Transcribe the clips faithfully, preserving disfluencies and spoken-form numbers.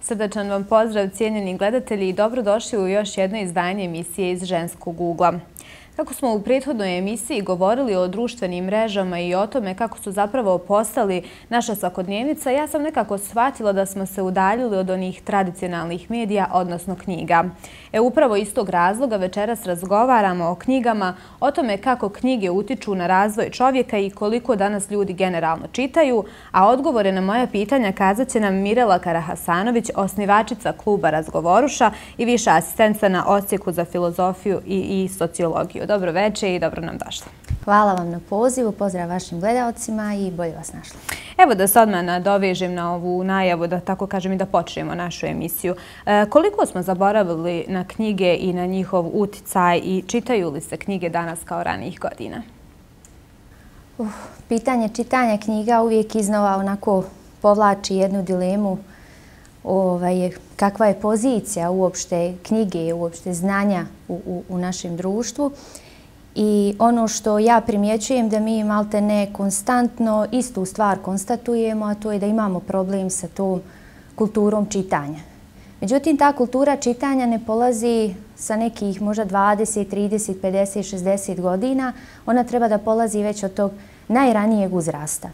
Srdačan vam pozdrav, cijenjeni gledatelji, i dobrodošli u još jedno izdanje emisije iz Ženskog ugla. Kako smo u prethodnoj emisiji govorili o društvenim mrežama i o tome kako su zapravo postali naša svakodnevnica, ja sam nekako shvatila da smo se udaljili od onih tradicionalnih medija, odnosno knjiga. E upravo iz tog razloga večeras razgovaramo o knjigama, o tome kako knjige utiču na razvoj čovjeka i koliko danas ljudi generalno čitaju, a odgovore na moja pitanja kazat će nam Mirela Karahasanović, osnivačica kluba Razgovoruša i viša asistenca na odsjeku za filozofiju i, i sociologiju. Dobro večer i dobro nam došla. Hvala vam na pozivu, pozdrav vašim gledalcima i bolje vas našla. Evo da se odmah nadovežem na ovu najavu, da tako kažem i da počnemo našu emisiju. E, koliko smo zaboravili na knjige i na njihov uticaj i čitaju li se knjige danas kao ranijih godina? Uh, pitanje čitanja knjiga uvijek iznova onako povlači jednu dilemu. Ovaj, kakva je pozicija uopšte knjige, uopšte znanja u, u, u našem društvu. I ono što ja primjećujem da mi malte ne konstantno istu stvar konstatujemo, a to je da imamo problem sa tom kulturom čitanja. Međutim, ta kultura čitanja ne polazi sa nekih možda dvadeset, trideset, pedeset, šezdeset godina. Ona treba da polazi već od tog najranijeg uzrasta.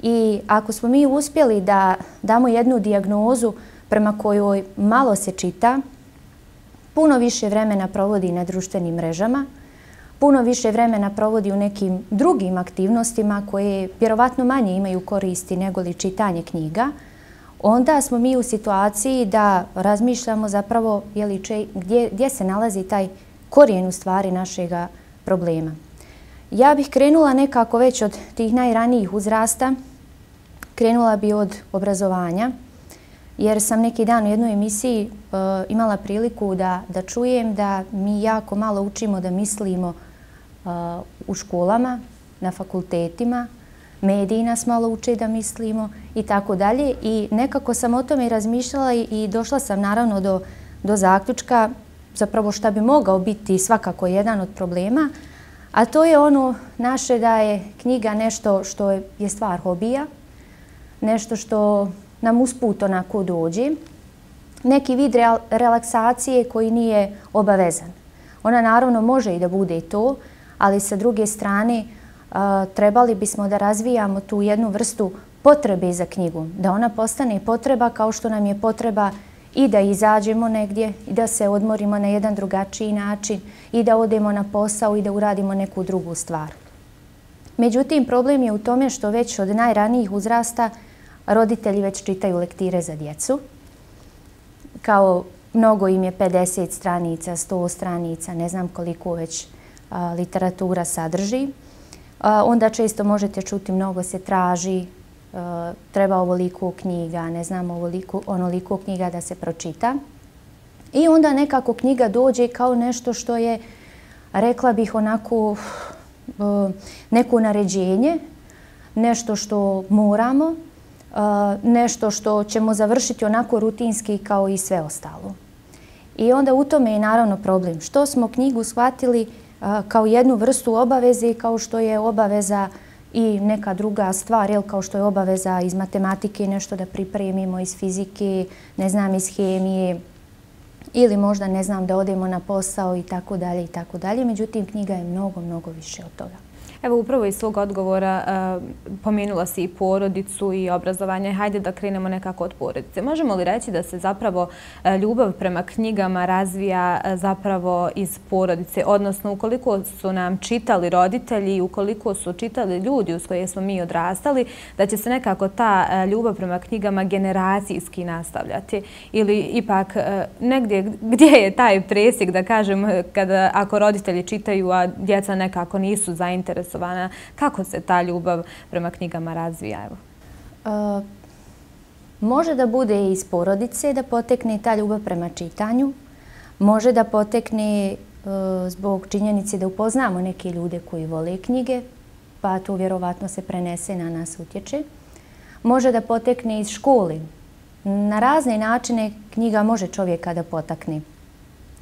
I ako smo mi uspjeli da damo jednu dijagnozu prema kojoj malo se čita, puno više vremena provodi na društvenim mrežama, puno više vremena provodi u nekim drugim aktivnostima koje vjerovatno manje imaju koristi nego li čitanje knjiga, onda smo mi u situaciji da razmišljamo zapravo jeli, če, gdje, gdje se nalazi taj korijen u stvari našega problema. Ja bih krenula nekako već od tih najranijih uzrasta, krenula bi od obrazovanja, jer sam neki dan u jednoj emisiji uh, imala priliku da, da čujem da mi jako malo učimo da mislimo uh, u školama, na fakultetima, mediji nas malo uče da mislimo i tako dalje. I nekako sam o tome razmišljala i, i došla sam naravno do, do zaključka zapravo šta bi mogao biti svakako jedan od problema, a to je ono naše da je knjiga nešto što je, je stvar hobija, nešto što nam usput onako dođe, neki vid relaksacije koji nije obavezan. Ona naravno može i da bude i to, ali sa druge strane trebali bismo da razvijamo tu jednu vrstu potrebe za knjigu, da ona postane potreba kao što nam je potreba i da izađemo negdje i da se odmorimo na jedan drugačiji način i da odemo na posao i da uradimo neku drugu stvar. Međutim, problem je u tome što već od najranijih uzrasta roditelji već čitaju lektire za djecu. Kao mnogo im je pedeset stranica, sto stranica, ne znam koliko već a, literatura sadrži. A, onda često možete čuti mnogo se traži, a, treba ovoliko knjiga, ne znam ovoliko, onoliko knjiga da se pročita. I onda nekako knjiga dođe kao nešto što je, rekla bih onako, a, neko naređenje, nešto što moramo, Uh, nešto što ćemo završiti onako rutinski kao i sve ostalo. I onda u tome je naravno problem. Što smo knjigu shvatili uh, kao jednu vrstu obaveze, kao što je obaveza i neka druga stvar, jel, kao što je obaveza iz matematike nešto da pripremimo, iz fizike, ne znam, iz hemije, ili možda, ne znam, da odemo na posao i tako dalje i tako dalje. Međutim, knjiga je mnogo, mnogo više od toga. Evo, upravo iz svog odgovora uh, pomenula si i porodicu i obrazovanje. Hajde da krenemo nekako od porodice. Možemo li reći da se zapravo uh, ljubav prema knjigama razvija uh, zapravo iz porodice? Odnosno, ukoliko su nam čitali roditelji i ukoliko su čitali ljudi uz koje smo mi odrastali, da će se nekako ta uh, ljubav prema knjigama generacijski nastavljati? Ili ipak uh, negdje gdje je taj presjek, da kažem, kada ako roditelji čitaju, a djeca nekako nisu zainteresovani? Kako se ta ljubav prema knjigama razvija? Evo? Uh, može da bude iz porodice da potekne ta ljubav prema čitanju. Može da potekne uh, zbog činjenice da upoznamo neke ljude koji vole knjige, pa to vjerovatno se prenese na nas utječe. Može da potekne iz škole. Na razne načine knjiga može čovjeka da potakne.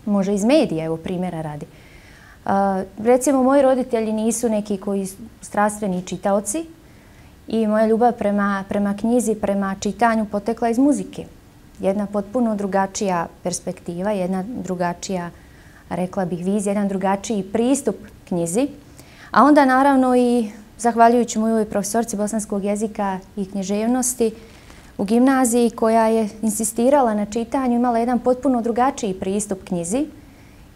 Može iz medija, evo primjera radi. Uh, recimo, moji roditelji nisu neki koji strastveni čitaoci i moja ljubav prema, prema knjizi, prema čitanju potekla iz muzike. jedna potpuno drugačija perspektiva, jedna drugačija, rekla bih, vizija, jedan drugačiji pristup knjizi. A onda naravno i zahvaljujući mojoj profesorci bosanskog jezika i književnosti u gimnaziji koja je insistirala na čitanju, imala jedan potpuno drugačiji pristup knjizi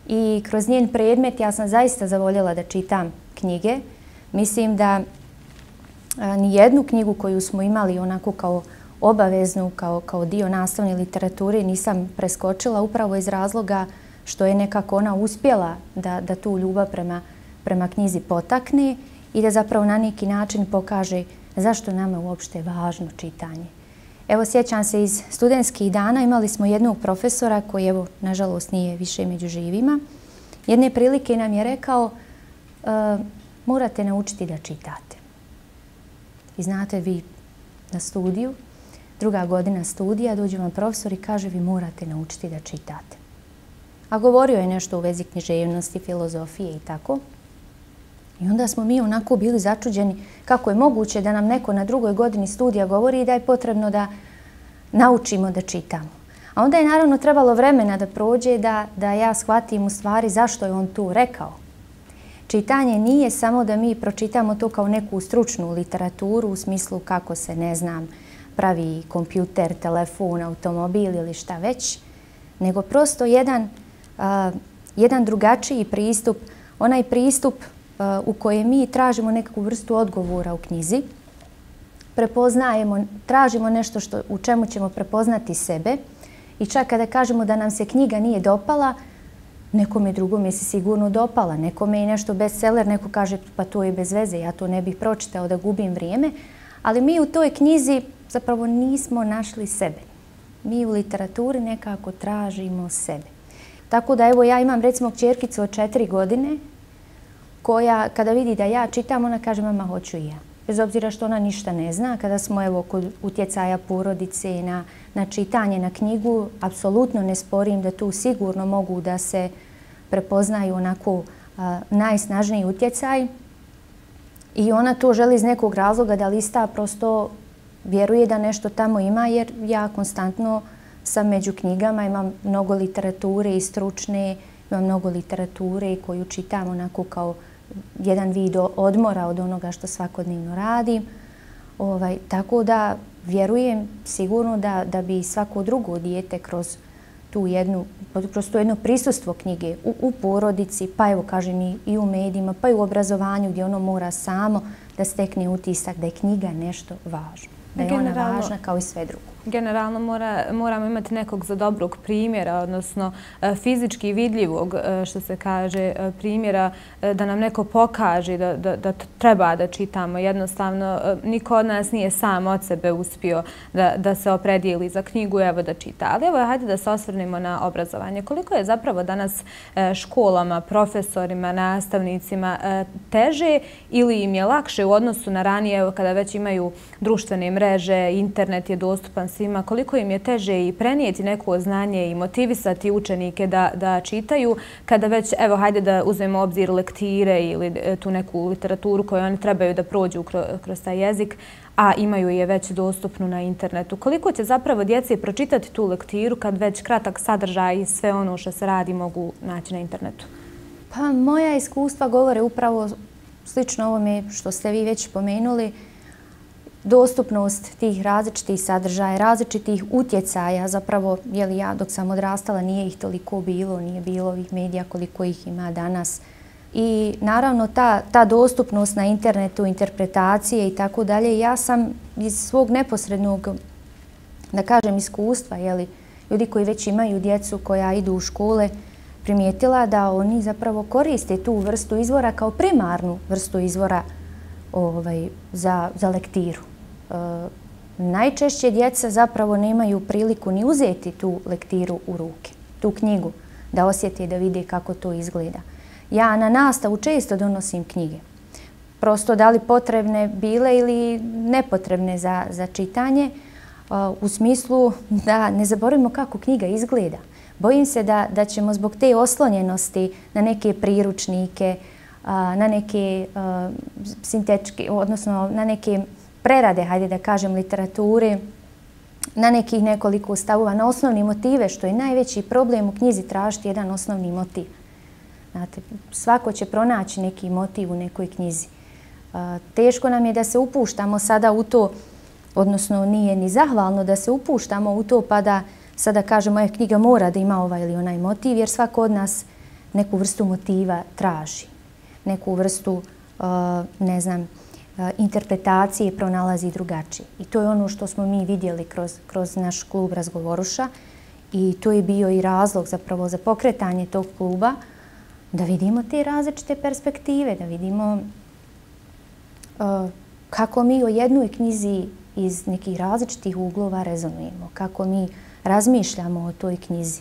i kroz njen predmet ja sam zaista zavoljela da čitam knjige. Mislim da ni jednu knjigu koju smo imali onako kao obaveznu, kao, kao dio nastavne literature nisam preskočila upravo iz razloga što je nekako ona uspjela da, da tu ljubav prema, prema knjizi potakne i da zapravo na neki način pokaže zašto nama uopšte je važno čitanje. Evo, sjećam se iz studentskih dana, imali smo jednog profesora koji, evo, nažalost nije više među živima. Jedne prilike nam je rekao e, morate naučiti da čitate. I znate, vi na studiju, druga godina studija, dođe vam profesor i kaže vi morate naučiti da čitate. A govorio je nešto u vezi književnosti, filozofije i tako. I onda smo mi onako bili začuđeni kako je moguće da nam neko na drugoj godini studija govori da je potrebno da naučimo da čitamo. A onda je naravno trebalo vremena da prođe da, da ja shvatim u stvari zašto je on tu rekao. Čitanje nije samo da mi pročitamo to kao neku stručnu literaturu u smislu kako se, ne znam, pravi kompjuter, telefon, automobil ili šta već, nego prosto jedan, uh, jedan drugačiji pristup, onaj pristup uh, u kojem mi tražimo nekakvu vrstu odgovora u knjizi, prepoznajemo, tražimo nešto što, u čemu ćemo prepoznati sebe i čak kada kažemo da nam se knjiga nije dopala, nekome drugome se sigurno dopala, nekome je nešto bestseller, neko kaže pa to je bez veze, ja to ne bih pročitao da gubim vrijeme, ali mi u toj knjizi zapravo nismo našli sebe. Mi u literaturi nekako tražimo sebe. Tako da evo ja imam recimo kćerkicu od četiri godine koja kada vidi da ja čitam, ona kaže mama hoću i ja. Bez obzira što ona ništa ne zna, kada smo evo kod utjecaja porodice na, na čitanje, na knjigu, apsolutno ne sporim da tu sigurno mogu da se prepoznaju onako a, najsnažniji utjecaj. I ona to želi iz nekog razloga da lista, prosto vjeruje da nešto tamo ima, jer ja konstantno sam među knjigama, imam mnogo literature i stručne, imam mnogo literature koju čitam onako kao jedan vid odmora od onoga što svakodnevno radim. Ovaj, tako da vjerujem sigurno da, da bi svako drugo dijete kroz tu jednu, kroz to jedno prisustvo knjige u, u porodici, pa evo kažem i, i u medijima, pa i u obrazovanju gdje ono mora samo da stekne utisak da je knjiga nešto važno. Da je ona važna kao i sve drugo. Generalno mora, moramo imati nekog za dobrog primjera, odnosno fizički vidljivog, što se kaže, primjera, da nam neko pokaže da, da, da treba da čitamo. Jednostavno, niko od nas nije sam od sebe uspio da, da se opredijeli za knjigu, evo da čita. Ali evo, hajde da se osvrnemo na obrazovanje. Koliko je zapravo danas školama, profesorima, nastavnicima teže ili im je lakše u odnosu na ranije, evo kada već imaju društvene mreže, internet je dostupan svima, koliko im je teže i prenijeti neko znanje i motivisati učenike da, da čitaju, kada već, evo, hajde da uzmemo obzir lektire ili tu neku literaturu koju oni trebaju da prođu kroz, kroz taj jezik, a imaju je već dostupnu na internetu. Koliko će zapravo djeci pročitati tu lektiru kad već kratak sadržaj i sve ono što se radi mogu naći na internetu? Pa moja iskustva govore upravo slično ovome što ste vi već pomenuli. Dostupnost tih različitih sadržaja, različitih utjecaja, zapravo, jeli ja dok sam odrastala nije ih toliko bilo, nije bilo ovih medija koliko ih ima danas. I naravno ta, ta dostupnost na internetu, interpretacije i tako dalje, ja sam iz svog neposrednog, da kažem, iskustva, jeli, ljudi koji već imaju djecu koja idu u škole, primijetila da oni zapravo koriste tu vrstu izvora kao primarnu vrstu izvora ovaj, za, za lektiru. E, najčešće djeca zapravo nemaju priliku ni uzeti tu lektiru u ruke, tu knjigu, da osjete i da vide kako to izgleda. Ja na nastavu često donosim knjige. Prosto da li potrebne bile ili nepotrebne za, za čitanje, uh, u smislu da ne zaboravimo kako knjiga izgleda. Bojim se da, da ćemo zbog te oslonjenosti na neke priručnike, uh, na neke uh, sintetičke, odnosno na neke prerade, hajde da kažem, literature, na nekih nekoliko stavova, na osnovni motive, što je najveći problem u knjizi, tražiti jedan osnovni motiv. Znate, svako će pronaći neki motiv u nekoj knjizi. Teško nam je da se upuštamo sada u to, odnosno nije ni zahvalno da se upuštamo u to pa da sada kažemo moja knjiga mora da ima ovaj ili onaj motiv, jer svako od nas neku vrstu motiva traži. Neku vrstu, ne znam, interpretacije pronalazi drugačije. I to je ono što smo mi vidjeli kroz, kroz naš klub Razgovoruša i to je bio i razlog zapravo za pokretanje tog kluba, da vidimo te različite perspektive, da vidimo uh, kako mi o jednoj knjizi iz nekih različitih uglova rezonujemo, kako mi razmišljamo o toj knjizi.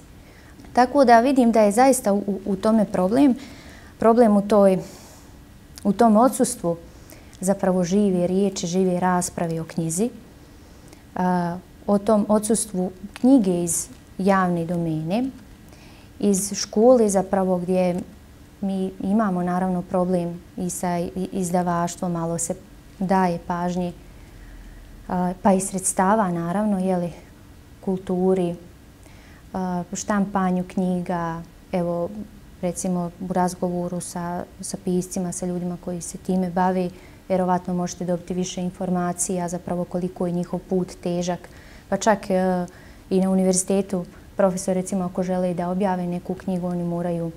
Tako da vidim da je zaista u, u tome problem, problem u, toj, u tom odsustvu zapravo žive riječi, žive rasprave o knjizi, uh, o tom odsustvu knjige iz javne domene, iz škole zapravo gdje mi imamo naravno problem i sa izdavaštvom, malo se daje pažnje, pa i sredstava naravno, jeli, kulturi, štampanju knjiga, evo recimo u razgovoru sa, sa piscima, sa ljudima koji se time bave, vjerovatno možete dobiti više informacija zapravo koliko je njihov put težak, pa čak i na univerzitetu profesor recimo ako žele da objave neku knjigu, oni moraju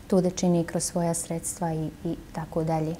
to da čini kroz svoja sredstva i, i tako dalje.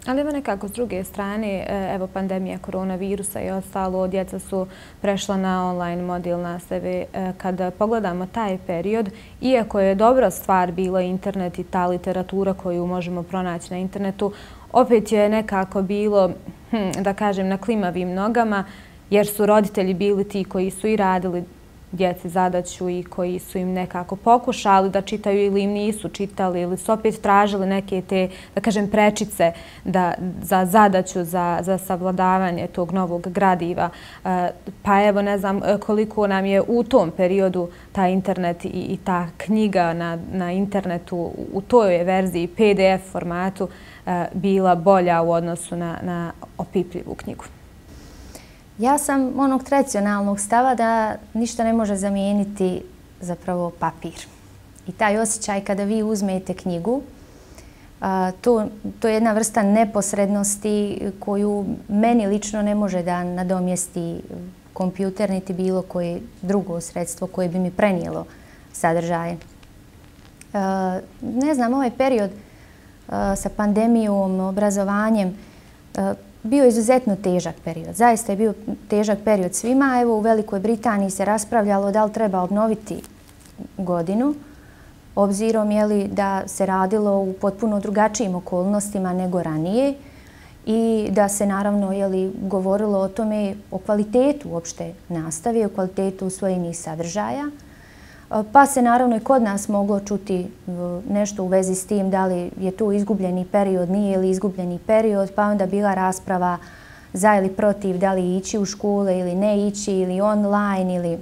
Ali ima nekako s druge strane, evo pandemija koronavirusa i ostalo, djeca su prešla na online model nastave. Kada pogledamo taj period, iako je dobra stvar bila internet i ta literatura koju možemo pronaći na internetu, opet je nekako bilo, hm, da kažem, na klimavim nogama, jer su roditelji bili ti koji su i radili djeci zadaću i koji su im nekako pokušali da čitaju ili im nisu čitali ili su opet tražili neke te, da kažem, prečice da, za zadaću, za, za savladavanje tog novog gradiva. Pa evo, ne znam koliko nam je u tom periodu ta internet i, i ta knjiga na, na internetu u toj verziji P D F formatu bila bolja u odnosu na, na opipljivu knjigu. Ja sam onog tradicionalnog stava da ništa ne može zamijeniti zapravo papir. I taj osjećaj kada vi uzmete knjigu, to, to je jedna vrsta neposrednosti koju meni lično ne može da nadomjesti kompjuter niti bilo koje drugo sredstvo koje bi mi prenijelo sadržaje. Ne znam, ovaj period sa pandemijom, obrazovanjem, bio je izuzetno težak period. Zaista je bio težak period svima. Evo u Velikoj Britaniji se raspravljalo da li treba obnoviti godinu, obzirom je li da se radilo u potpuno drugačijim okolnostima nego ranije i da se naravno je li govorilo o tome, o kvalitetu uopšte nastave, o kvalitetu usvojenih sadržaja. Pa se naravno i kod nas moglo čuti nešto u vezi s tim da li je to izgubljeni period, nije li izgubljeni period, pa onda bila rasprava za ili protiv da li ići u škole ili ne ići ili online ili,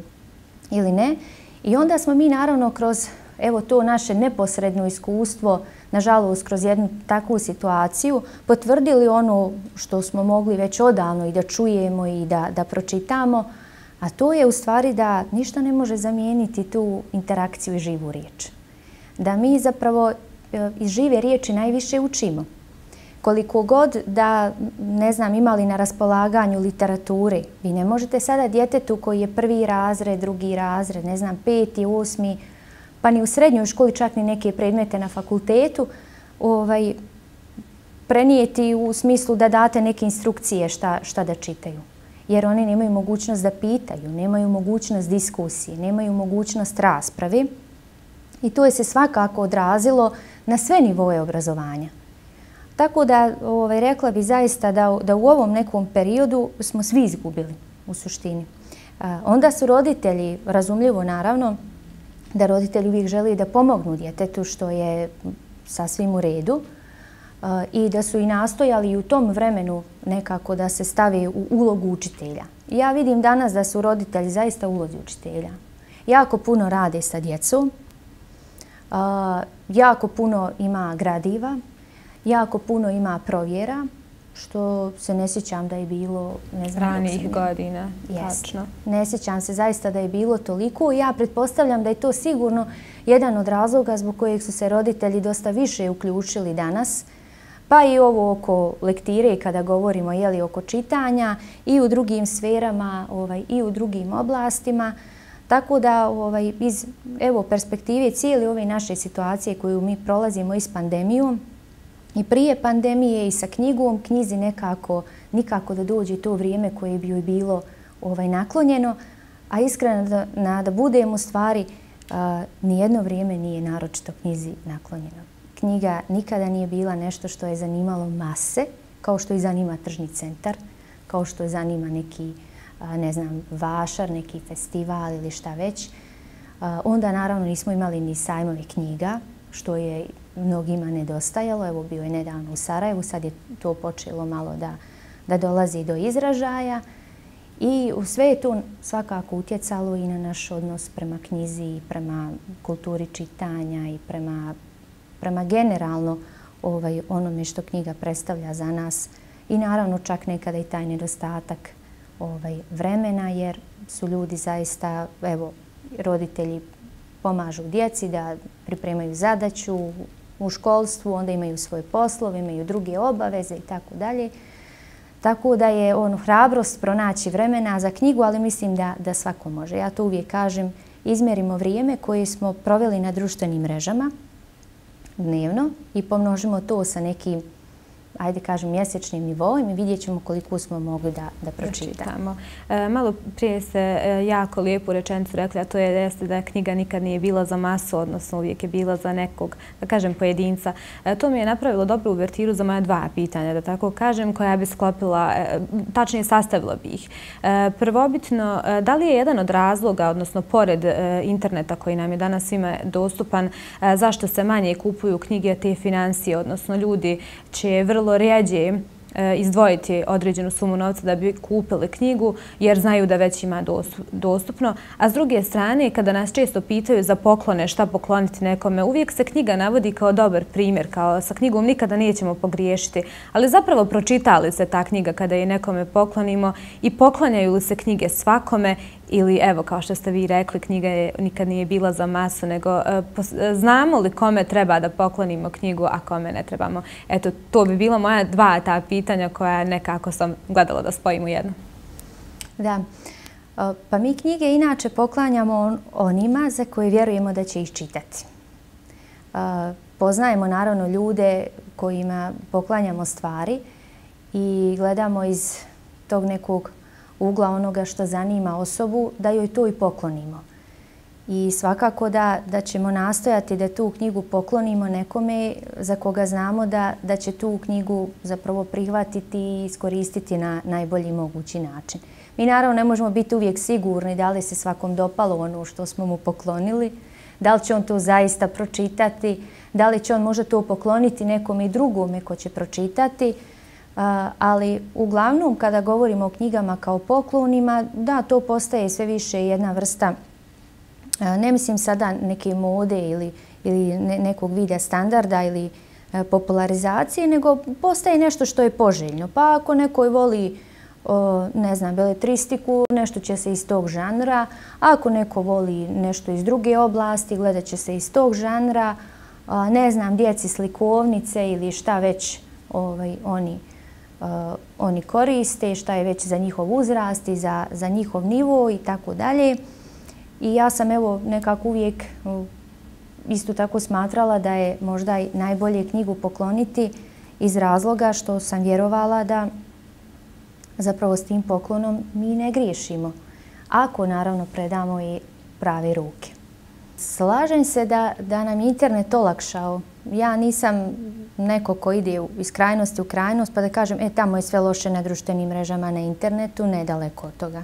ili ne. I onda smo mi naravno kroz evo to naše neposredno iskustvo, nažalost kroz jednu takvu situaciju, potvrdili ono što smo mogli već odavno i da čujemo i da, da pročitamo, a to je u stvari da ništa ne može zamijeniti tu interakciju i živu riječ. Da mi zapravo iz žive riječi najviše učimo. Koliko god da, ne znam, imali na raspolaganju literature, vi ne možete sada djetetu koji je prvi razred, drugi razred, ne znam, peti, osmi, pa ni u srednjoj školi, čak ni neke predmete na fakultetu, ovaj, prenijeti u smislu da date neke instrukcije šta, šta da čitaju. Jer oni nemaju mogućnost da pitaju, nemaju mogućnost diskusije, nemaju mogućnost rasprave i to je se svakako odrazilo na sve nivoje obrazovanja. Tako da ovaj, rekla bi zaista da, da u ovom nekom periodu smo svi izgubili u suštini. A, onda su roditelji, razumljivo naravno, da roditelji uvijek žele da pomognu djetetu što je sasvim u redu, i da su i nastojali u tom vremenu nekako da se stave u ulogu učitelja. Ja vidim danas da su roditelji zaista u ulozi učitelja. Jako puno rade sa djecom, jako puno ima gradiva, jako puno ima provjera što se ne sjećam da je bilo, ne znam... Ranijih godina, tačno. Ne sjećam se zaista da je bilo toliko. Ja pretpostavljam da je to sigurno jedan od razloga zbog kojeg su se roditelji dosta više uključili danas. Pa i ovo oko lektire kada govorimo jeli, oko čitanja i u drugim sferama ovaj, i u drugim oblastima. Tako da ovaj, iz evo, perspektive cijele ove naše situacije koju mi prolazimo i s pandemijom i prije pandemije i sa knjigom, knjizi nekako nikako da dođe to vrijeme koje bi joj bilo ovaj, naklonjeno, a iskreno da, na, da budemo stvari, a, nijedno vrijeme nije naročito knjizi naklonjeno. Knjiga nikada nije bila nešto što je zanimalo mase, kao što i zanima tržni centar, kao što je zanima neki, ne znam, vašar, neki festival ili šta već. Onda naravno nismo imali ni sajmove knjiga, što je mnogima nedostajalo. Evo bio je nedavno u Sarajevu, sad je to počelo malo da, da dolazi do izražaja. I sve je to svakako utjecalo i na naš odnos prema knjizi i prema kulturi čitanja i prema prema generalno ovaj, onome što knjiga predstavlja za nas i naravno čak nekada i taj nedostatak ovaj, vremena jer su ljudi zaista, evo, roditelji pomažu djeci da pripremaju zadaću u školstvu, onda imaju svoje poslove, imaju druge obaveze i tako dalje. Tako da je ono, hrabrost pronaći vremena za knjigu, ali mislim da, da svako može. Ja to uvijek kažem, izmjerimo vrijeme koje smo proveli na društvenim mrežama dnevno i pomnožimo to sa nekim, ajde kažem, mjesečnim nivoom i vidjet ćemo koliko smo mogli da, da pročitamo. E, malo prije ste e, jako lijepu rečenicu rekli, a to je jeste da knjiga nikad nije bila za masu, odnosno uvijek je bila za nekog, da kažem, pojedinca. E, to mi je napravilo dobru uvertiru za moja dva pitanja, da tako kažem, koja bi sklopila, e, tačnije sastavila bi ih. E, prvobitno, e, da li je jedan od razloga, odnosno pored e, interneta koji nam je danas svima dostupan, e, zašto se manje kupuju knjige te financije, odnosno ljudi će vrlo rijeđe izdvojiti određenu sumu novca da bi kupili knjigu jer znaju da već ima dostupno. A s druge strane, kada nas često pitaju za poklone, šta pokloniti nekome, uvijek se knjiga navodi kao dobar primjer, kao sa knjigom nikada nećemo pogriješiti. Ali zapravo pročitali se ta knjiga kada je nekome poklonimo i poklanjaju li se knjige svakome ili, evo, kao što ste vi rekli, knjiga je, nikad nije bila za masu, nego znamo li kome treba da poklonimo knjigu, a kome ne trebamo? Eto, to bi bilo moja dva ta pitanja koja nekako sam gledala da spojim u jedno. Da. Pa mi knjige inače poklanjamo onima za koje vjerujemo da će ih čitati. Poznajemo naravno ljude kojima poklanjamo stvari i gledamo iz tog nekog ugla onoga što zanima osobu, da joj to i poklonimo. I svakako da, da ćemo nastojati da tu knjigu poklonimo nekome za koga znamo da, da će tu knjigu zapravo prihvatiti i iskoristiti na najbolji mogući način. Mi naravno ne možemo biti uvijek sigurni da li se svakom dopalo ono što smo mu poklonili, da li će on to zaista pročitati, da li će on možda to pokloniti nekome i drugome ko će pročitati. Ali uglavnom kada govorimo o knjigama kao poklonima, da, to postaje sve više jedna vrsta, ne mislim sada neke mode ili, ili nekog vida standarda ili popularizacije, nego postaje nešto što je poželjno. Pa ako neko voli, ne znam, beletristiku, nešto će se iz tog žanra, a ako neko voli nešto iz druge oblasti, gledat će se iz tog žanra, ne znam, djeci slikovnice ili šta već ovaj, oni Uh, oni koriste, šta je već za njihov uzrast i za, za njihov nivo i tako dalje. I ja sam evo nekako uvijek uh, isto tako smatrala da je možda i najbolje knjigu pokloniti iz razloga što sam vjerovala da zapravo s tim poklonom mi ne griješimo. Ako naravno predamo i prave ruke. Slažem se da, da nam je internet olakšao. Ja nisam neko ko ide iz krajnosti u krajnost pa da kažem e, tamo je sve loše na društvenim mrežama, na internetu, nedaleko od toga.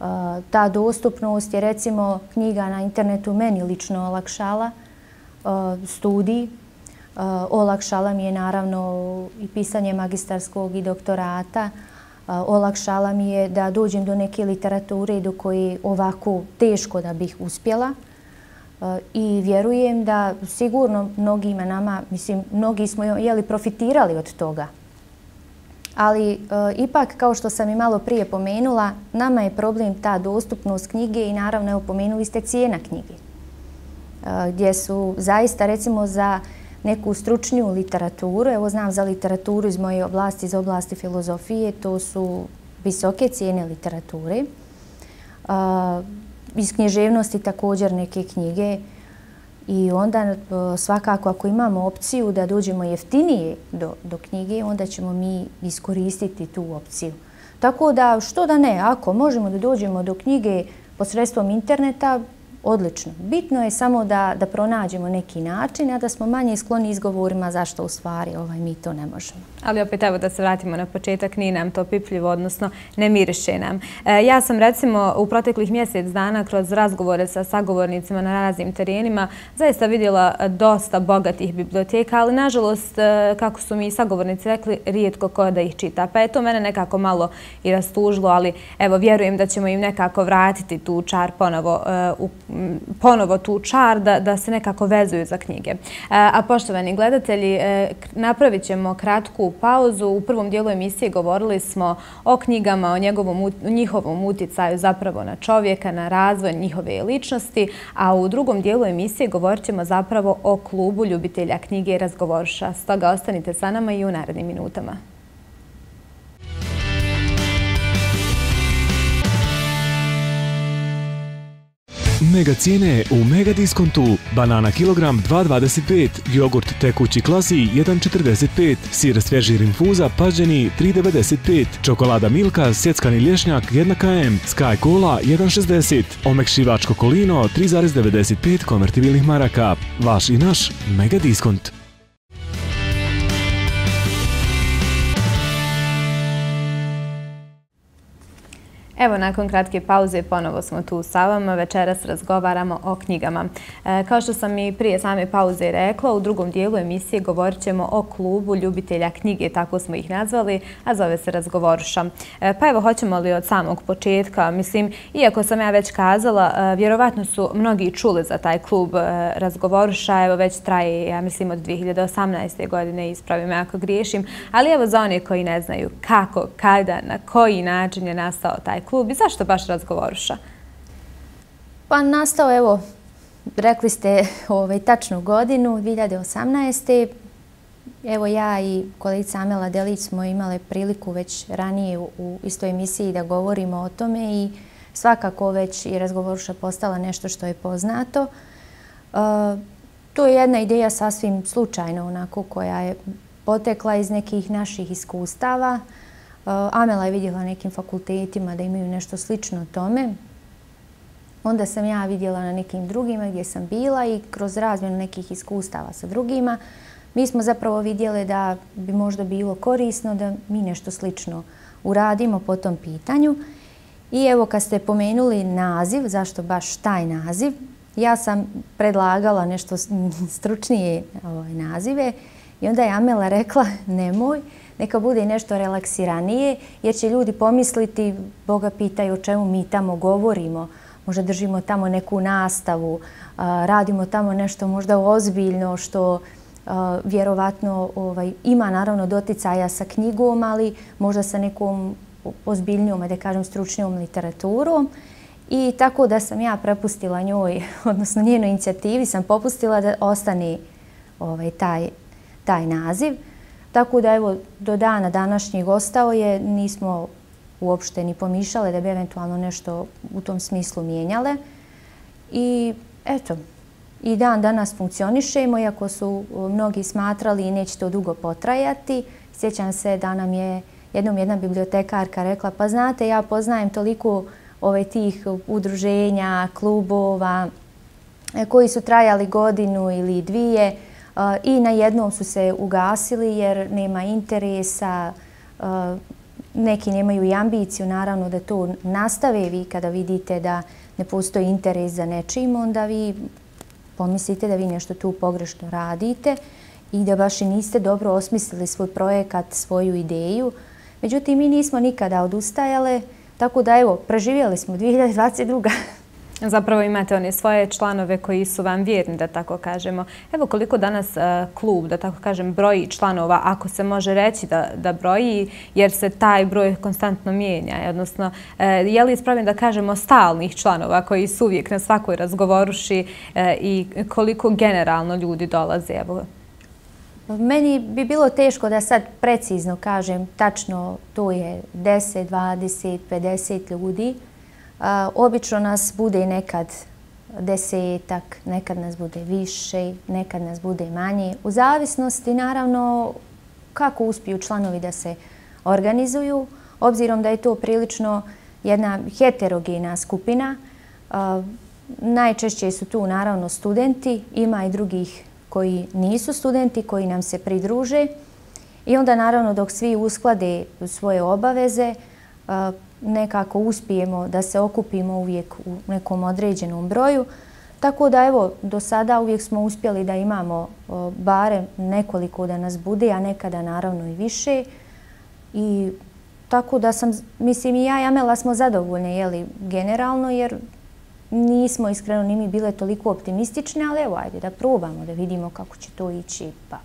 Uh, ta dostupnost je recimo knjiga na internetu meni lično olakšala uh, studij. Uh, olakšala mi je naravno i pisanje magistarskog i doktorata. Uh, olakšala mi je da dođem do neke literature do koje ovako teško da bih uspjela. I vjerujem da sigurno mnogima nama, mislim, mnogi smo jeli, profitirali od toga. ali e, ipak, kao što sam i malo prije pomenula, nama je problem ta dostupnost knjige i naravno, evo, pomenuli ste cijena knjige, e, gdje su zaista, recimo, za neku stručniju literaturu, evo znam za literaturu iz moje oblasti, iz oblasti filozofije, to su visoke cijene literature. Uh, iz književnosti također neke knjige i onda uh, svakako ako imamo opciju da dođemo jeftinije do, do knjige, onda ćemo mi iskoristiti tu opciju. Tako da, što da ne, ako možemo da dođemo do knjige posredstvom interneta, odlično. Bitno je samo da, da pronađemo neki način, a da smo manje skloni izgovorima zašto u stvari ovaj, mi to ne možemo. Ali opet evo da se vratimo na početak, nije nam to pipljivo, odnosno ne miriše nam. E, ja sam recimo u proteklih mjesec dana kroz razgovore sa sagovornicima na raznim terenima zaista vidjela dosta bogatih biblioteka, ali nažalost, kako su mi sagovornici rekli, rijetko ko da ih čita. Pa je to mene nekako malo i rastužilo, ali evo vjerujem da ćemo im nekako vratiti tu čar ponovo u ponovo tu čar da, da se nekako vezuju za knjige. A poštovani gledatelji, napravit ćemo kratku pauzu. U prvom dijelu emisije govorili smo o knjigama, o njegovom, njihovom utjecaju zapravo na čovjeka, na razvoj njihove ličnosti, a u drugom dijelu emisije govorit ćemo zapravo o klubu ljubitelja knjige Razgovorša. Stoga ostanite sa nama i u narednim minutama. Mega cijene u Mega diskontu. Banana kilogram dva dvadeset pet, jogurt tekući klasi jedan četrdeset pet, sir svježi rinfuza pažđeni tri devedeset pet, čokolada Milka sjeckani lješnjak jedan kilogram, Sky Cola jedan šezdeset, omekšivač Kokolino tri zarez devedeset pet konvertibilnih maraka. Vaš i naš Mega diskont. Evo, nakon kratke pauze ponovo smo tu sa vama. Večeras razgovaramo o knjigama. E, kao što sam i prije same pauze rekla, u drugom dijelu emisije govorit ćemo o klubu ljubitelja knjige, tako smo ih nazvali, a zove se Razgovorša. E, pa evo, hoćemo li od samog početka, mislim, iako sam ja već kazala, e, vjerovatno su mnogi čuli za taj klub e, Razgovorša, evo već traje, ja mislim, od dvije hiljade osamnaeste. godine, ispravim ako griješim, ali evo za one koji ne znaju kako, kada, na koji način je nastao taj klub. Klub i zašto baš Razgovorša? Pa nastao, evo, rekli ste ovaj, tačnu godinu, dvije hiljade osamnaeste. Evo ja i kolegica Amela Delić smo imale priliku već ranije u, u istoj emisiji da govorimo o tome i svakako već je Razgovorša postala nešto što je poznato. Uh, to je jedna ideja sasvim slučajno, onako, koja je potekla iz nekih naših iskustava. Amela je vidjela nekim fakultetima da imaju nešto slično tome. Onda sam ja vidjela na nekim drugima gdje sam bila i kroz razmjenu nekih iskustava sa drugima mi smo zapravo vidjeli da bi možda bilo korisno da mi nešto slično uradimo po tom pitanju. I evo, kad ste pomenuli naziv, zašto baš taj naziv, ja sam predlagala nešto stručnije ovaj, nazive i onda je Amela rekla nemoj, neka bude i nešto relaksiranije, jer će ljudi pomisliti, Boga pitaju o čemu mi tamo govorimo, možda držimo tamo neku nastavu, radimo tamo nešto možda ozbiljno što vjerovatno ovaj, ima naravno doticaja sa knjigom, ali možda sa nekom ozbiljnijom, da kažem stručnijom literaturom. I tako da sam ja prepustila njoj, odnosno njenoj inicijativi sam popustila da ostane ovaj, taj, taj naziv. Tako da evo, do dana današnjeg ostao je, nismo uopšte ni pomišljale da bi eventualno nešto u tom smislu mijenjale. I eto, i dan danas funkcionišemo, iako su mnogi smatrali i neće to dugo potrajati. Sjećam se da nam je jednom jedna bibliotekarka rekla, pa znate, ja poznajem toliko ove tih udruženja, klubova koji su trajali godinu ili dvije, i na jednom su se ugasili jer nema interesa, neki nemaju i ambiciju naravno da to nastave. Vi kada vidite da ne postoji interes za nečim, onda vi pomislite da vi nešto tu pogrešno radite i da baš i niste dobro osmislili svoj projekat, svoju ideju. Međutim, mi nismo nikada odustajale, tako da evo, preživjeli smo dvije hiljade dvadeset druga. Zapravo imate one svoje članove koji su vam vjerni, da tako kažemo. Evo koliko danas klub, da tako kažem, broji članova, ako se može reći da, da broji, jer se taj broj konstantno mijenja. Odnosno, je li ispravljeno da kažemo stalnih članova koji su uvijek na svakoj razgovoruši i koliko generalno ljudi dolaze? Evo. Meni bi bilo teško da sad precizno kažem tačno to je deset, dvadeset, pedeset ljudi. Obično nas bude nekad desetak, nekad nas bude više, nekad nas bude manje. U zavisnosti naravno kako uspiju članovi da se organizuju, obzirom da je to prilično jedna heterogena skupina. Najčešće su tu naravno studenti, ima i drugih koji nisu studenti, koji nam se pridruže. I onda naravno dok svi usklade svoje obaveze, nekako uspijemo da se okupimo uvijek u nekom određenom broju. Tako da evo, do sada uvijek smo uspjeli da imamo barem nekoliko da nas bude, a nekada naravno i više. I tako da sam, mislim i ja i Amela smo zadovoljne, jeli, generalno, jer nismo iskreno ni mi bile toliko optimistične, ali evo, ajde da probamo, da vidimo kako će to ići, pa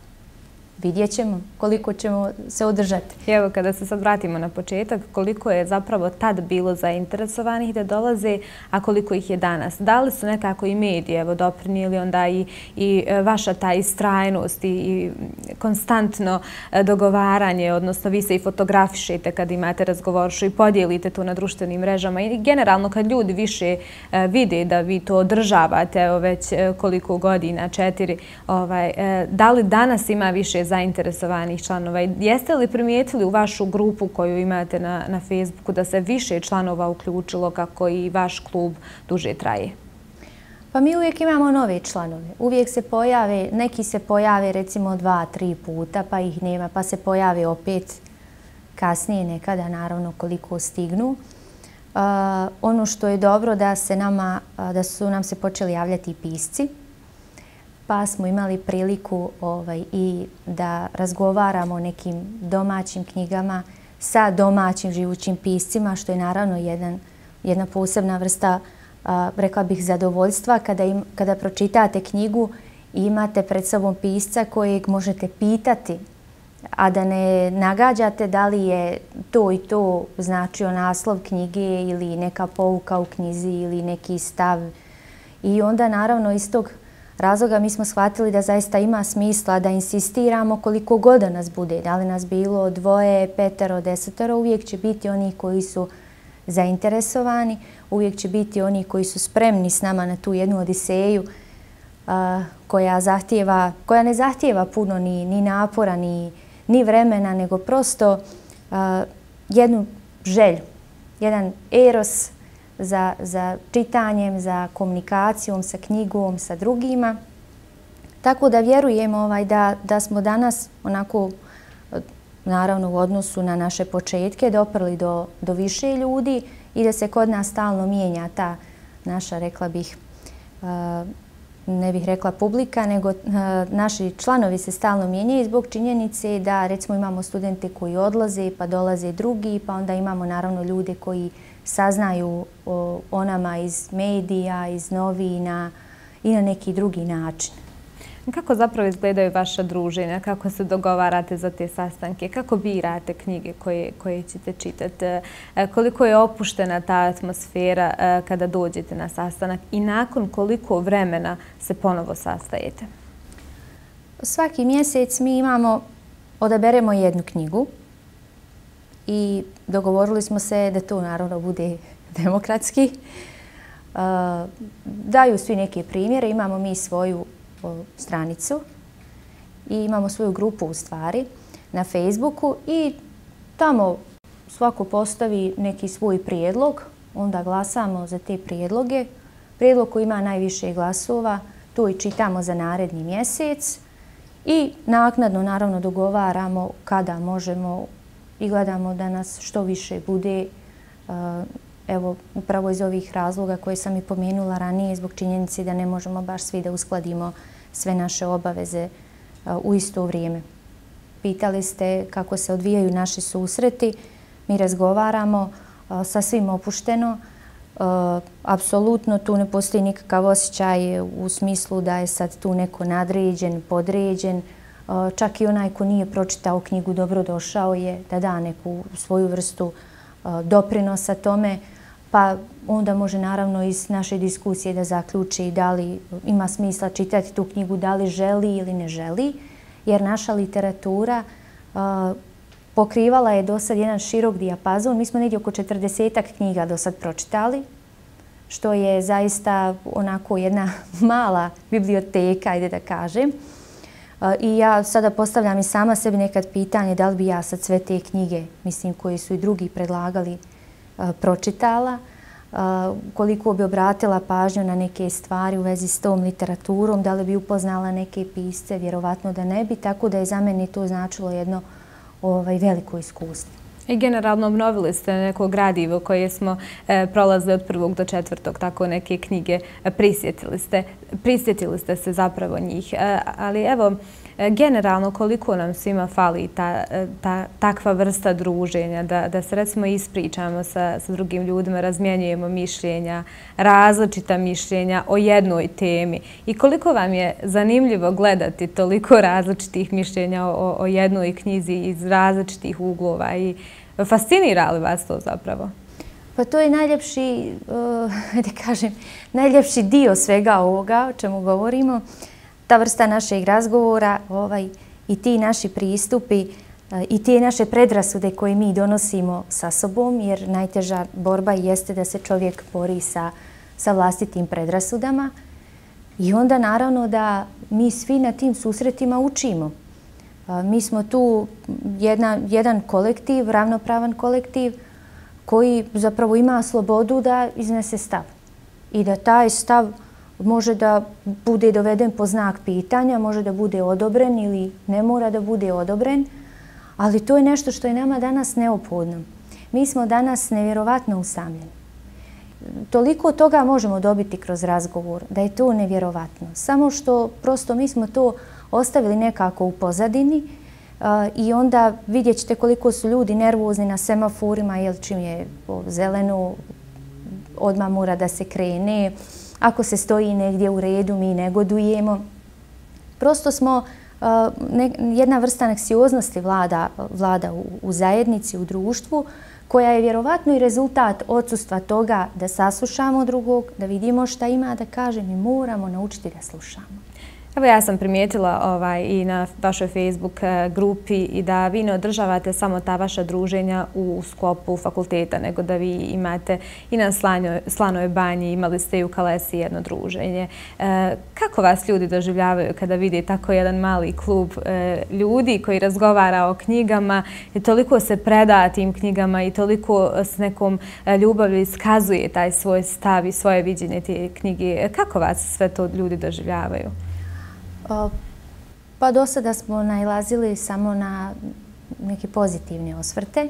vidjet ćemo koliko ćemo se održati. Evo, kada se sad vratimo na početak, koliko je zapravo tad bilo zainteresovanih da dolaze, a koliko ih je danas? Da li su nekako i mediji evo, doprinijeli onda i, i vaša ta istrajnost i, i konstantno dogovaranje, odnosno vi se i fotografišete kad imate razgovoršu i podijelite to na društvenim mrežama i generalno kad ljudi više vide da vi to održavate evo, već koliko godina, četiri, ovaj, da li danas ima više zainteresovanih članova? Jeste li primijetili u vašu grupu koju imate na, na Facebooku da se više članova uključilo kako i vaš klub duže traje? Pa mi uvijek imamo nove članove. Uvijek se pojave, neki se pojave recimo dva, tri puta pa ih nema, pa se pojave opet kasnije nekada, naravno koliko stignu. Uh, ono što je dobro da se nama, da su nam se počeli javljati i pisci, pa smo imali priliku ovaj, i da razgovaramo o nekim domaćim knjigama sa domaćim živućim piscima, što je naravno jedan, jedna posebna vrsta, a, rekla bih, zadovoljstva kada, im, kada pročitate knjigu i imate pred sobom pisca kojeg možete pitati, a da ne nagađate da li je to i to značio naslov knjige ili neka pouka u knjizi ili neki stav. I onda naravno iz tog razloga mi smo shvatili da zaista ima smisla da insistiramo koliko god da nas bude. Da li nas bilo dvoje, petero, desetero, uvijek će biti oni koji su zainteresovani, uvijek će biti oni koji su spremni s nama na tu jednu odiseju a, koja, zahtijeva, koja ne zahtijeva puno ni, ni napora, ni, ni vremena, nego prosto a, jednu želju, jedan eros Za, za čitanjem, za komunikacijom, sa knjigom, sa drugima. Tako da vjerujemo ovaj, da, da smo danas onako, naravno u odnosu na naše početke, doprli do, do više ljudi i da se kod nas stalno mijenja ta naša, rekla bih, ne bih rekla publika, nego naši članovi se stalno mijenjaju zbog činjenice da recimo imamo studente koji odlaze pa dolaze drugi, pa onda imamo naravno ljude koji saznaju o, o nama iz medija, iz novina i na neki drugi način. Kako zapravo izgledaju vaša druženja? Kako se dogovarate za te sastanke? Kako birate knjige koje, koje ćete čitati? Koliko je opuštena ta atmosfera kada dođete na sastanak i nakon koliko vremena se ponovo sastajete? Svaki mjesec mi imamo, odaberemo jednu knjigu i dogovorili smo se da to naravno bude demokratski. Daju svi neke primjere, imamo mi svoju stranicu i imamo svoju grupu u stvari na Facebooku i tamo svako postavi neki svoj prijedlog, onda glasamo za te prijedloge. Prijedlog koji ima najviše glasova, to i čitamo za naredni mjesec i naknadno naravno dogovaramo kada možemo i gledamo da nas što više bude. Evo, upravo iz ovih razloga koje sam i pomenula ranije, zbog činjenice da ne možemo baš svi da uskladimo sve naše obaveze u isto vrijeme. Pitali ste kako se odvijaju naši susreti. Mi razgovaramo sa svim opušteno. Apsolutno tu ne postoji nikakav osjećaj u smislu da je sad tu neko nadređen, podređen. Čak i onaj ko nije pročitao knjigu dobrodošao je da da neku svoju vrstu doprinosa tome, pa onda može naravno iz naše diskusije da zaključi da li ima smisla čitati tu knjigu, da li želi ili ne želi, jer naša literatura pokrivala je do sad jedan širok dijapazon. Mi smo negdje oko četrdesetak knjiga do sad pročitali, što je zaista onako jedna mala biblioteka, ajde da kažem. I ja sada postavljam i sama sebi nekad pitanje da li bi ja sad sve te knjige, mislim, koje su i drugi predlagali, pročitala, koliko bi obratila pažnju na neke stvari u vezi s tom literaturom, da li bi upoznala neke pisce, vjerovatno da ne bi, tako da je za mene to značilo jedno ovaj, veliko iskustvo. I generalno obnovili ste neko gradivo koje smo e, prolazili od prvog do četvrtog, tako neke knjige, e, prisjetili ste, prisjetili ste se zapravo njih. E, ali evo, e, generalno koliko nam svima fali ta, ta, takva vrsta druženja, da, da se recimo ispričamo sa, sa drugim ljudima, razmjenjujemo mišljenja, različita mišljenja o jednoj temi. I koliko vam je zanimljivo gledati toliko različitih mišljenja o, o jednoj knjizi iz različitih uglova i fascinira li vas to zapravo? Pa to je najljepši, uh, da kažem, najljepši dio svega ovoga o čemu govorimo. Ta vrsta našeg razgovora ovaj, i ti naši pristupi uh, i te naše predrasude koje mi donosimo sa sobom, jer najteža borba jeste da se čovjek bori sa, sa vlastitim predrasudama. I onda naravno da mi svi na tim susretima učimo. Mi smo tu jedna, jedan kolektiv, ravnopravan kolektiv koji zapravo ima slobodu da iznese stav i da taj stav može da bude doveden po znak pitanja, može da bude odobren ili ne mora da bude odobren, ali to je nešto što je nama danas neophodno. Mi smo danas nevjerovatno usamljeni. Toliko toga možemo dobiti kroz razgovor da je to nevjerovatno. Samo što prosto mi smo to ostavili nekako u pozadini uh, i onda vidjet ćete koliko su ljudi nervozni na semaforima, jer čim je zeleno odmah mora da se krene. Ako se stoji negdje u redu, mi negodujemo. Prosto smo, uh, ne, jedna vrsta anksioznosti vlada, vlada u, u zajednici, u društvu, koja je vjerovatno i rezultat odsustva toga da saslušamo drugog, da vidimo šta ima da kaže, mi moramo naučiti da slušamo. Evo ja sam primijetila ovaj, i na vašoj Facebook grupi i da vi ne održavate samo ta vaša druženja u sklopu fakulteta, nego da vi imate i na Slanjoj, Slanoj banji, imali ste i u Kalesi jedno druženje. E, kako vas ljudi doživljavaju kada vidi tako jedan mali klub e, ljudi koji razgovara o knjigama i toliko se preda tim knjigama i toliko s nekom ljubavlju iskazuje taj svoj stav i svoje viđenje te knjige? Kako vas sve to ljudi doživljavaju? Pa do sada smo nailazili samo na neke pozitivne osvrte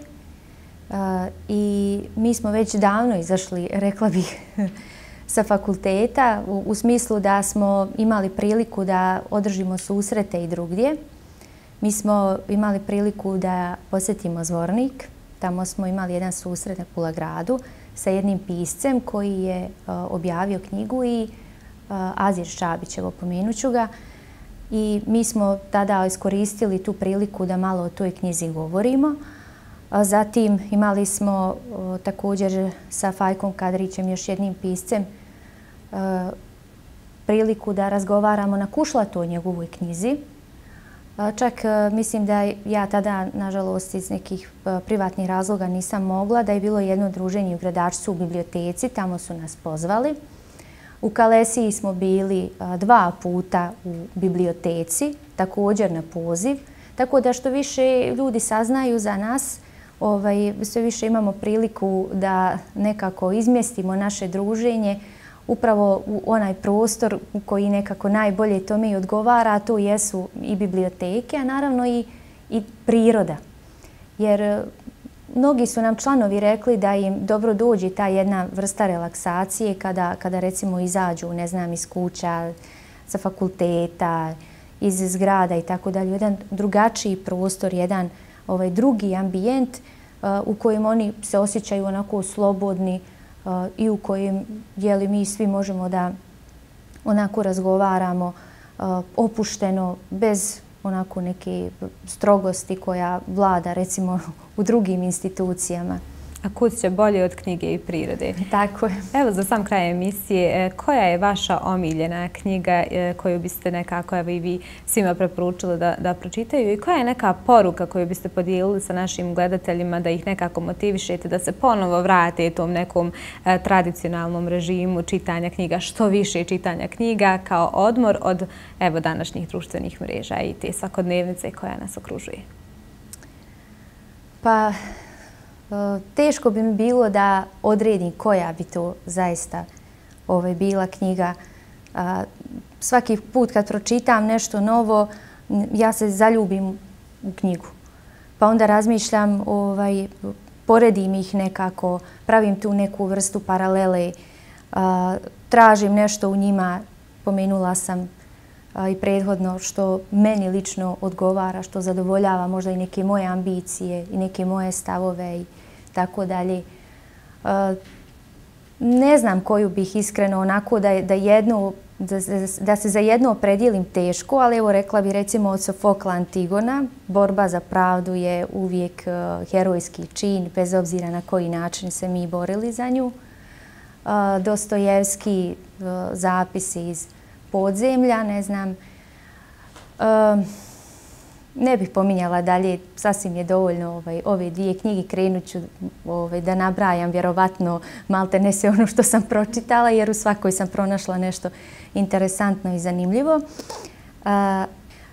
i mi smo već davno izašli, rekla bih, sa fakulteta u smislu da smo imali priliku da održimo susrete i drugdje. Mi smo imali priliku da posjetimo Zvornik. Tamo smo imali jedan susret na Kulagradu sa jednim piscem koji je objavio knjigu i Azir Šabić, evo pomenut ću ga. I mi smo tada iskoristili tu priliku da malo o toj knjizi govorimo. Zatim imali smo također sa Fajkom Kadrićem, još jednim piscem, priliku da razgovaramo na Kušlatu o njegovoj knjizi. Čak mislim da ja tada, nažalost, iz nekih privatnih razloga nisam mogla, da je bilo jedno druženje u Gradačcu u biblioteci, tamo su nas pozvali. U Kalesiji smo bili dva puta u biblioteci, također na poziv, tako da što više ljudi saznaju za nas, ovaj, sve više imamo priliku da nekako izmjestimo naše druženje upravo u onaj prostor u koji nekako najbolje tome i odgovara, a to jesu i biblioteke, a naravno i, i priroda. Jer mnogi su nam članovi rekli da im dobro dođe ta jedna vrsta relaksacije kada, kada recimo izađu, ne znam, iz kuća, sa fakulteta, iz zgrada i tako dalje. Jedan drugačiji prostor, jedan ovaj, drugi ambijent uh, u kojem oni se osjećaju onako slobodni, i u kojem jeli, mi svi možemo da onako razgovaramo opušteno, bez onako neke strogosti koja vlada recimo u drugim institucijama. A kud će bolje od knjige i prirode? Tako je. Evo, za sam kraj emisije, koja je vaša omiljena knjiga koju biste nekako evo i vi svima preporučili da, da pročitaju i koja je neka poruka koju biste podijelili sa našim gledateljima da ih nekako motivišete da se ponovo vrate tom nekom eh, tradicionalnom režimu čitanja knjiga, što više čitanja knjiga kao odmor od evo današnjih društvenih mreža i te svakodnevnice koja nas okružuje? Pa teško bi mi bilo da odredim koja bi to zaista ovaj, bila knjiga. A, svaki put kad pročitam nešto novo, ja se zaljubim u knjigu. Pa onda razmišljam, ovaj, poredim ih nekako, pravim tu neku vrstu paralele, a, tražim nešto u njima, pomenula sam a, i prethodno, što meni lično odgovara, što zadovoljava možda i neke moje ambicije i neke moje stavove i tako dalje. Ne znam koju bih iskreno onako da, da, jednu, da, da se za jedno opredijelim teško, ali evo rekla bi recimo od Sofokla Antigona, borba za pravdu je uvijek uh, herojski čin, bez obzira na koji način se mi borili za nju. Uh, Dostojevski uh, zapisi iz podzemlja, ne znam. Uh, Ne bih pominjala dalje, sasvim je dovoljno ovaj, ove dvije knjige. Krenut ću ovaj, da nabrajam vjerovatno malte ne sve ono što sam pročitala, jer u svakoj sam pronašla nešto interesantno i zanimljivo. A,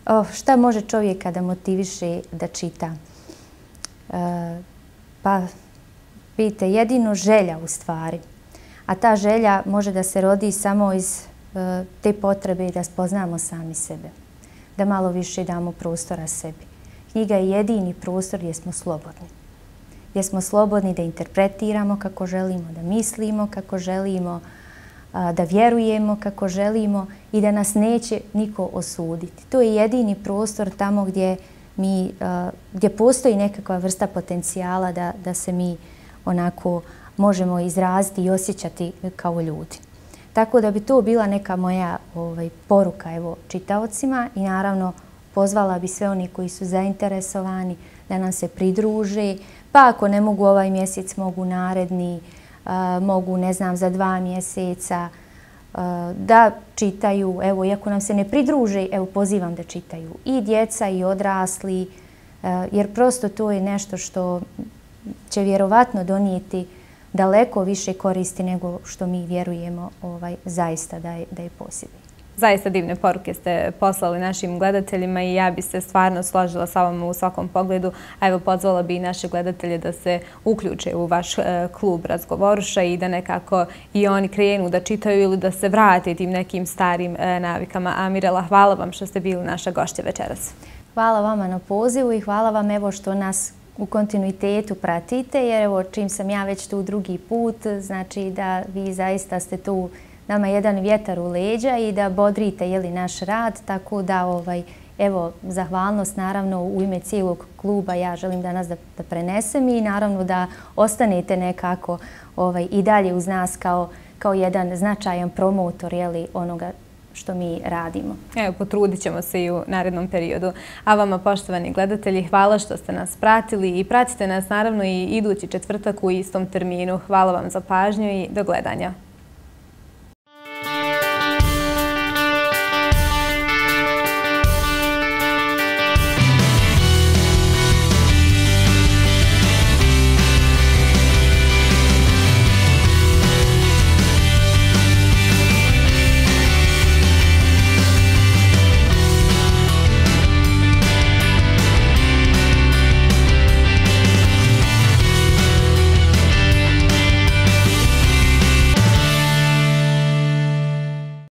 oh, šta može čovjeka da motiviše da čita? A, pa, vidite, jedino želja u stvari. A ta želja može da se rodi samo iz a, te potrebe da spoznamo sami sebe. Da malo više damo prostora sebi. Knjiga je jedini prostor gdje smo slobodni. Gdje smo slobodni da interpretiramo kako želimo, da mislimo kako želimo, da vjerujemo kako želimo i da nas neće niko osuditi. To je jedini prostor tamo gdje, mi, gdje postoji nekakva vrsta potencijala da, da se mi onako možemo izraziti i osjećati kao ljudi. Tako da bi to bila neka moja ovaj, poruka evo, čitaocima i naravno pozvala bi sve oni koji su zainteresovani da nam se pridruže. Pa ako ne mogu ovaj mjesec, mogu naredni, a, mogu ne znam za dva mjeseca a, da čitaju. Evo, iako nam se ne pridruže, evo pozivam da čitaju i djeca i odrasli, a, jer prosto to je nešto što će vjerovatno donijeti daleko više koristi nego što mi vjerujemo ovaj, zaista da je, da je posjedni. Zaista divne poruke ste poslali našim gledateljima i ja bi se stvarno složila sa vama u svakom pogledu. A evo pozvala bi i naše gledatelje da se uključe u vaš e, klub Razgovoruša i da nekako i oni krenu da čitaju ili da se vrate tim nekim starim e, navikama. A Mirela, hvala vam što ste bili naša gošća večeras. Hvala vama na pozivu i hvala vam evo što nas u kontinuitetu pratite, jer evo čim sam ja već tu drugi put, znači da vi zaista ste tu nama jedan vjetar u leđa i da bodrite jeli, naš rad, tako da ovaj, evo zahvalnost naravno u ime cijelog kluba ja želim danas da, da prenesem i naravno da ostanete nekako ovaj, i dalje uz nas kao, kao jedan značajan promotor jeli, onoga što mi radimo. Evo, potrudit ćemo se i u narednom periodu. A vama, poštovani gledatelji, hvala što ste nas pratili i pratite nas naravno i idući četvrtak u istom terminu. Hvala vam za pažnju i do gledanja.